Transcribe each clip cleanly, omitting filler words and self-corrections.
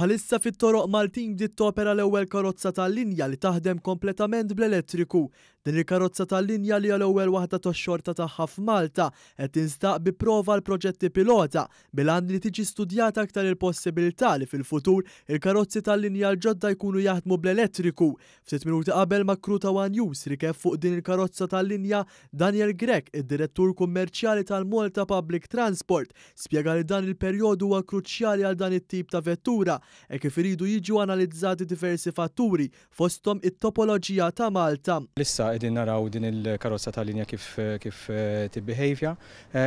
Bħalissa fit-toroq Maltin bdiet topera l-ewwel karozza tal-linja li taħdem kompletament bl-elettriku. Din il-karozza tal-linja li hija l-ewwel waħda tax-xorta tagħha f'Malta qed tinstaq bi prova għal proġetti pilota bil-għan li tiġi studjata aktar il-possibilità li fil-futur il-karozzi tal-linja l-ġodda jkunu jaħdmu bl-elettriku. Ftit minuti qabel ma' crew ta' one News rikeb fuq din il-karozza tal-linja, Daniel Grech, id-Direttur Kummerċjali tal-Malta Public Transport, spjega li dan il-perjodu huwa kruċjali għal dan it-tip ta' vettura hekk kif iridu jiġu analizzati diversi fatturi fosthom it-topoloġija ta' Malta. Issa qegħdin naraw din il-karozza tal-linja kif kif tibbehejvja.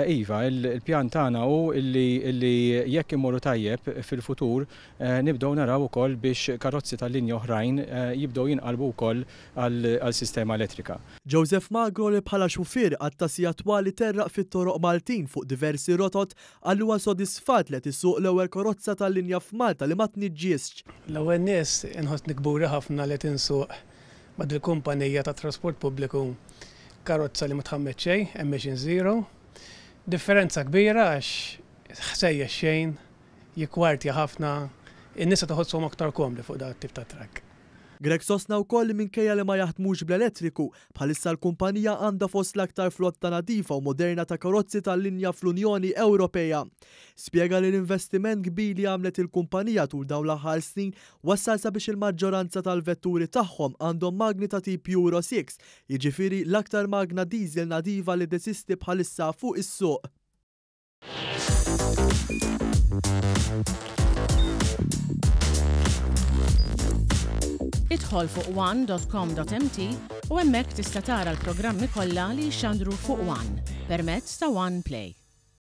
Iva, il-pjan tagħna hu illi jekk immorru tajjeb fil-futur Nibdew naraw ukoll biex karozzi tal-linja oħrajn jibdew jinqalbu wkoll għal sistema elettrika. Joseph Magro li bħala xufier qatta' sigħat twal iterraq fit-toroq Maltin fuq diversi rotot qal li huwa sodisfatt li qed isuq l-ewwel karozza tal-linja f'Malta li ma tniġġisx. L-ewwel nies inħossni kburi ħafna li qed insuq ma' dil-kumpanija tat-trasport pubbliku karozza li ma tħammeġ xejn, emission zero. Differenza kbira għax ħsejjes xejn, jikkwartja ħafna, in-nies qed iħossuhom aktar komdi fuq dan it-tip ta' trakk. Grech sostna wkoll li minkejja li ma jaħdmux bl-elettriku, bħalissa l-kumpanija għandha fost l-aktar flotta nadifa u moderna ta' karozzi tal-linja fl-Unjoni Ewropea. Spjega li l-investiment kbir li għamlet il-kumpanija tul dawn l-aħħar snin wassal sabiex il-maġġoranza tal-vetturi tagħhom għandhom magni ta' tip Euro 6, jiġifieri l-aktar magna diesel nadifa li teżisti bħalissa fuq is-suq. Idħol fuq one.com.mt u hemmhekk tista' tara l-programmi kollha li jixxandru fuq One permezz ta' One Play.